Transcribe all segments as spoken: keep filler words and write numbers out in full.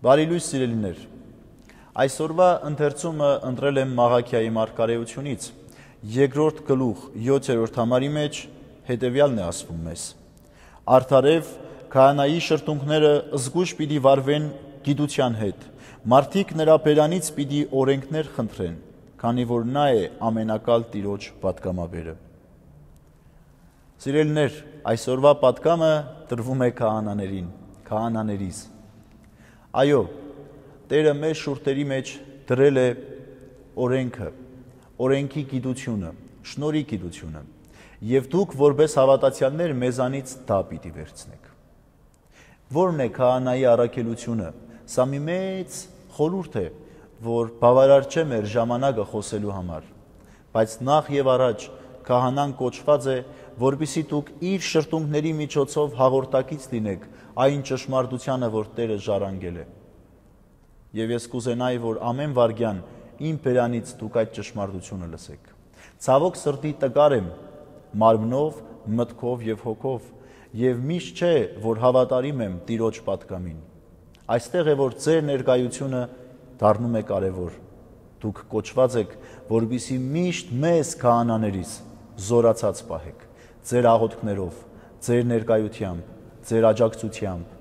Բարի լույս սիրելիներ, այսօրվա ընթերցումը ընտրել եմ Մաղաքիայի մարգարեությունից, երկրորդ գլուխ յոթերորդ համարի մեջ հետևյալն է ասվում մեզ. Արդարև քահանայի շրթունքները զգույշ պիտի վարվեն գիտության հետ, մարդիկ նրա բերանից պիտի օրենքներ խնդրեն, քանի որ նա է ամենակալ Տիրոջ պատգամաբերը։ Սիրելիներ, այսօրվա պատգամը տրվում է քահանաներին, քահանաներիս։ Այո, Տերը մեր շուրթերի մեջ դրել է օրենքը, օրենքի գիտությունը, շնորհի գիտությունը, եւ դուք որպես հավատացյալներ մեզանից դա պիտի վերցնեք։ Որն է քահանայի առաքելությունը։ Սա մի մեծ խորհուրդ է, որ բավարար չէ մեր ժամանակը խոսելու համար, բայց նախ եւ առաջ քահանան կոչված է, որպեսզի դուք իր շրթունքների միջոցով հաղորդակից լինեք այն ճշմարտությանը, որ Տերը ժառանգել է։ Եվ ես կուզենայի, որ ամեն վարդյան իմ բերանից դուք այդ ճշմարտությունը լսեք։ Ցավոք սրտի տկար եմ մարմնով, մտքով եւ հոգով, եւ միշտ չէ, որ հավատարիմ եմ Տիրոջ պատգամին։ Այստեղ է, որ ձեր ներկայությունը դառնում է կարևոր։ Դուք կոչված եք, որպեսզի միշտ մեզ քահանաներիս զորացած պահեք, ձեր աղոթքներով, ձեր ներկայությամբ, ձեր աջակցությամբ,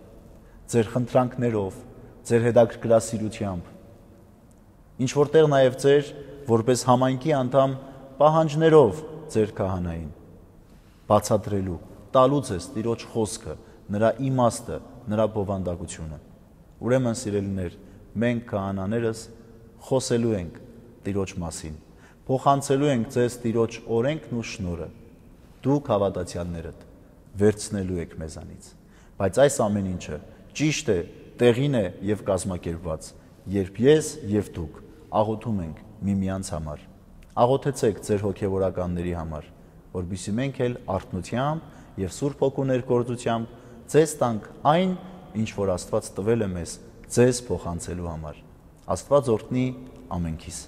ձեր խնդրանքներով, ձեր հետաքրքրասիրությամբ, ինչ որտեղ նաև ձեր որպես համայնքի անդամ պահանջներով ձեր քահանային, բացատրելու, տալու ձեզ Տիրոջ խոսքը, նրա իմաստը, նրա բովանդակությունը։ Ուրեմն սիրելիներ, մենք քահանաներս խոսելու ենք Տիրոջ մասին, փոխանցելու ենք ձեզ Տիրոջ օրենքն ու շնորհը, դուք հավատացյալներդ վերցնելու եք մեզանից, բայց այս ամեն ինչը ճիշտ է, տեղին է եւ կազմակերպված, երբ ես եւ դուք աղոթում ենք միմյանց համար։ Աղոթեցեք ձեր հոգեվորականների համար, որպեսզի մենք էլ արթնությամբ եւ Սուրբ Հոգու ներգործությամբ ձեզ տանք այն, ինչ որ Աստված տվել է մեզ ձեզ փոխանցելու համար։ Աստված օրհնի ամենքիս։